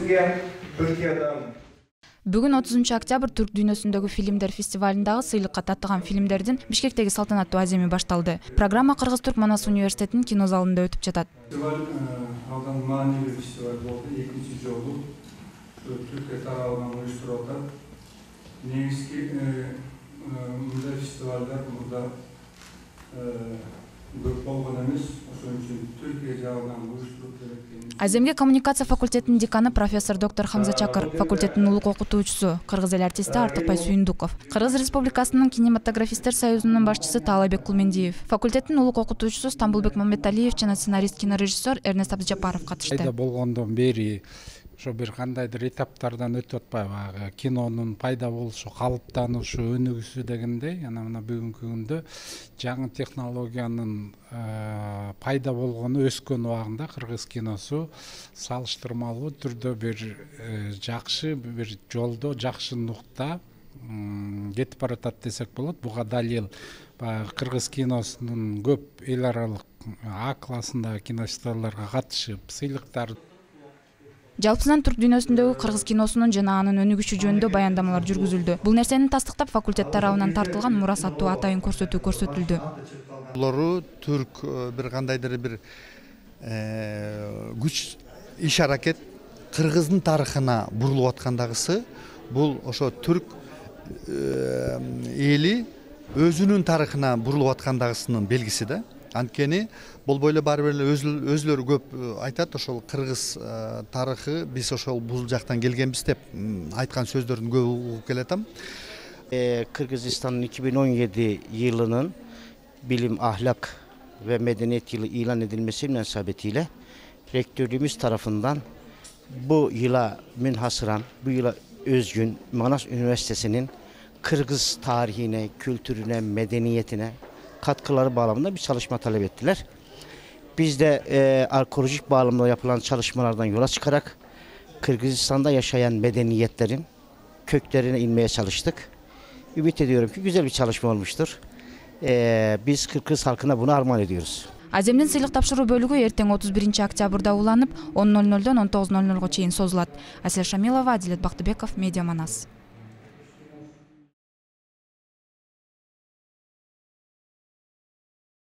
Türkiye, Türkiye'den. Бүгүн 30 октябрь Түрк дүйнөсүндөгү фильмдер фестивалындагы сыйлыкка таттыган фильмдердин Бишкектеги салтанаттуу аземи башталды. Программа Кыргыз-Түрк Манас университетинин кино залында өтүп жатат. Фестиваль алдан маанилүү фестиваль болду. Экинчи жолу Түркия тарабынан уюштурулат. Негизги мындай фестивалдар мурда көп болгон эмес. Ошон үчүн Түркия жагынан уюштуруп берет. Аземге коммуникация факультетинин деканы профессор доктор Хамза Чакыр, факулеттин улук окутуучусу, кыргыз эл артисти Артыкбай Сүйүндүков, Кыргыз Республикасынын кинематографисттер союзунун башчысы Таалайбек Кулмендиев, факулеттин улук окутуучусу Стамбулбек Мамбеталиев жана сценарист кинорежиссер Эрнест Абдыжапаров катышты. Пайда болгондон бери ошо бир кандайдыр этаптардан өтүп атпайбы, кинонун пайда болушу, калыптанушу, өнүгүшү дегендей, мына бүгүнкү күндө жаңы технологиянын пайда болгону өскөн убагында кыргыз киносу салыштырмалуу түрдө бир жакшы бир жолдо, жакшы нукта кетип баратат десек болот. Буга далил кыргыз киносунун көп эл аралык А классындагы кинофестивалдарга катышып, сыйлыктар. Жалпысынан Түрк дүйнөсүндөгү кыргыз киносунун жана анын өнүгүшү жөнүндө баяндамалар жүргүзүлдү. Бул нерсени тастыктап факультет тарабынан тартылган мурас аттуу атайын көрсөтүү көрсөтүлдү. Булар түрк бир кандайдыр бир күч иш аракет кыргыздын тарыхына бурулуп аткандагысы бул ошо түрк эли өзүнүн тарыхына бурулуп аткандагысынын белгиси да. Анткени болбой эле баары бир өзүлөрү көп айтат, ошол кыргыз тарыхы биз ошол бул жактан келгенбиз деп айткан сөздөрдүн көбү угуп келатам. Кыргызстандын 2017 yılının bilim, ahlak ve medeniyet yılı ilan edilmesi münasebetiyle rektörlüğümüz tarafından bu yıla münhasıran, bu yıla özgün Manas Üniversitesi'nin Kırgız tarihine, kültürüne, medeniyetine katkıları bağlamında bir çalışma talep ettiler. Biz de arkeolojik bağlamda yapılan çalışmalardan yola çıkarak Kırgızistan'da yaşayan medeniyetlerin köklerine inmeye çalıştık. Ümit ediyorum ki güzel bir çalışma olmuştur. Biz Kırgız halkına bunu armağan ediyoruz. Аземдин сыйлык тапшыруу бөлүгү эртең 31 октябрда уланып 10:00-дон 19:00 чейин созулат. Асель Шамилова, Адилет Бактыбеков, Медиа Манас.